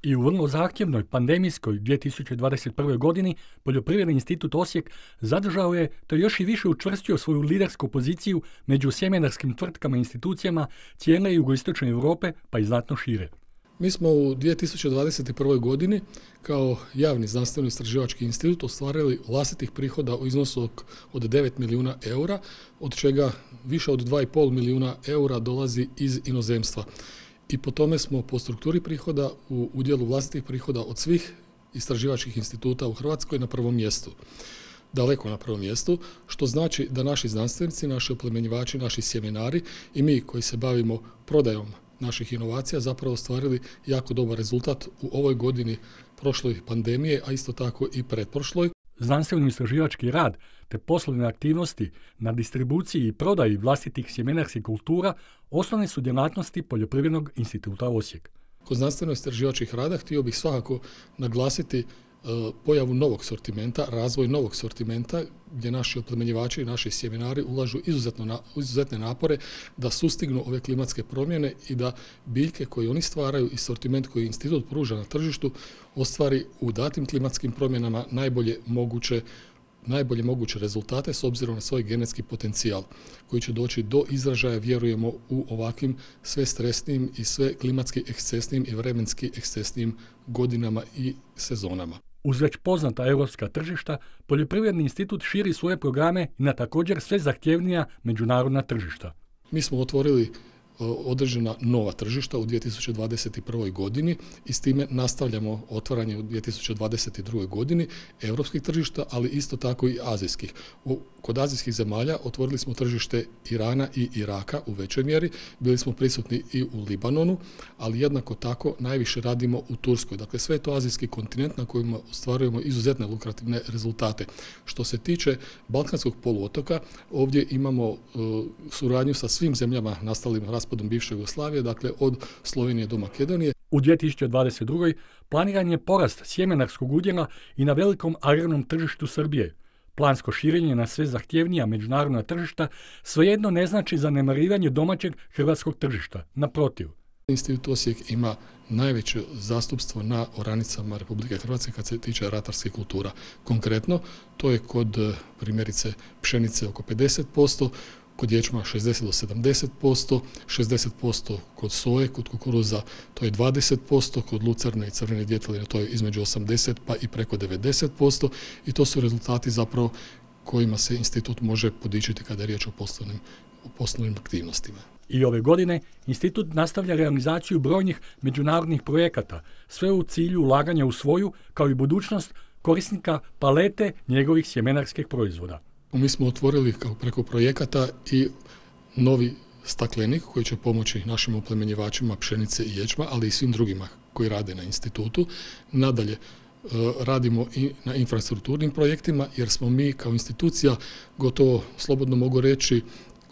I u vrlo zahtjevnoj pandemijskoj 2021. godini Poljoprivredni institut Osijek zadržao je, te još i više učvrstio svoju lidersku poziciju među sjemenarskim tvrtkama i institucijama cijele jugoistočne Europe, pa i znatno šire. Mi smo u 2021. godini kao javni znanstveno-istraživački institut ostvarili vlastitih prihoda u iznosu od 9 milijuna eura, od čega više od 2,5 milijuna eura dolazi iz inozemstva. I po tome smo po strukturi prihoda u udjelu vlastitih prihoda od svih istraživačkih instituta u Hrvatskoj na prvom mjestu. Daleko na prvom mjestu, što znači da naši znanstvenici, naši oplemenjivači, naši sjemenari i mi koji se bavimo prodajom naših inovacija zapravo ostvarili jako dobar rezultat u ovoj godini prošloj pandemije, a isto tako i pretprošloj. Znanstveno-istraživački rad te poslovne aktivnosti na distribuciji i prodaji vlastitih sjemenarskih kultura osnovne su djelatnosti Poljoprivrednog instituta Osijek. Kod znanstveno-istraživačkih rada htio bih svakako naglasiti pojavu novog sortimenta, razvoj novog sortimenta gdje naši oplemenjivači i naši sjemenari ulažu izuzetne napore da sustignu ove klimatske promjene i da biljke koje oni stvaraju i sortiment koji institut pruža na tržištu ostvari u datim klimatskim promjenama najbolje moguće rezultate s obzirom na svoj genetski potencijal koji će doći do izražaja, vjerujemo, u ovakvim sve stresnijim i sve klimatski ekscesnijim i vremenski ekscesnijim godinama i sezonama. Uz već poznata europska tržišta, Poljoprivredni institut širi svoje programe i na također sve zahtjevnija međunarodna tržišta. Mi smo otvorili određena nova tržišta u 2021. godini i s time nastavljamo otvaranje u 2022. godini europskih tržišta, ali isto tako i azijskih. Kod azijskih zemalja otvorili smo tržište Irana i Iraka u većoj mjeri, bili smo prisutni i u Libanonu, ali jednako tako najviše radimo u Turskoj. Dakle, sve je to azijski kontinent na kojem ostvarujemo izuzetne lukrativne rezultate. Što se tiče Balkanskog poluotoka, ovdje imamo suradnju sa svim zemljama nastalim raspadom bivše Jugoslavije, dakle od Slovenije do Makedonije. U 2022. planiran je porast sjemenarskog udjela i na velikom agrarnom tržištu Srbije. Plansko širenje na sve zahtjevnija međunarodna tržišta svejedno ne znači zanemarivanje domaćeg hrvatskog tržišta. Naprotiv. Institut Osijek ima najveće zastupstvo na oranicama Republike Hrvatske kad se tiče ratarskih kultura. Konkretno, to je kod primjerice pšenice oko 50%, kod ječma 60 do 70%, 60% kod soje, kod kukuruza to je 20%, kod lucerne i crvene djeteline to je između 80 pa i preko 90% i to su rezultati zapravo kojima se institut može podičiti kada je riječ o poslovnim aktivnostima. I ove godine institut nastavlja realizaciju brojnih međunarodnih projekata, sve u cilju ulaganja u svoju, kao i budućnost korisnika palete njegovih sjemenarskih proizvoda. Mi smo otvorili preko projekata i novi staklenik koji će pomoći našim oplemenjivačima pšenice i ječma, ali i svim drugima koji rade na institutu. Nadalje, radimo i na infrastrukturnim projektima jer smo mi kao institucija gotovo, slobodno mogu reći,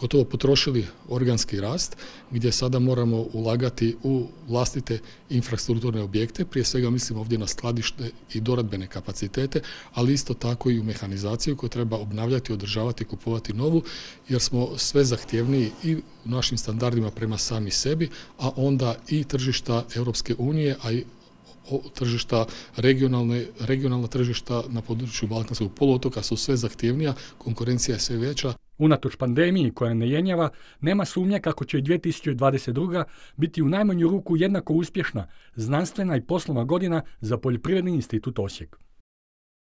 gotovo potrošili organski rast gdje sada moramo ulagati u vlastite infrastrukturne objekte, prije svega mislim ovdje na skladište i doradbene kapacitete, ali isto tako i u mehanizaciju koju treba obnavljati, održavati, kupovati novu, jer smo sve zahtjevniji i u našim standardima prema sami sebi, a onda i tržišta Europske unije, a i tržišta regionalna tržišta na području Balkanskog poluotoka su sve zahtjevnija, konkurencija je sve veća. Unatoč pandemiji koja ne jenjava, nema sumnje kako će i 2022. biti u najmanju ruku jednako uspješna znanstvena i poslovna godina za Poljoprivredni institut Osijek.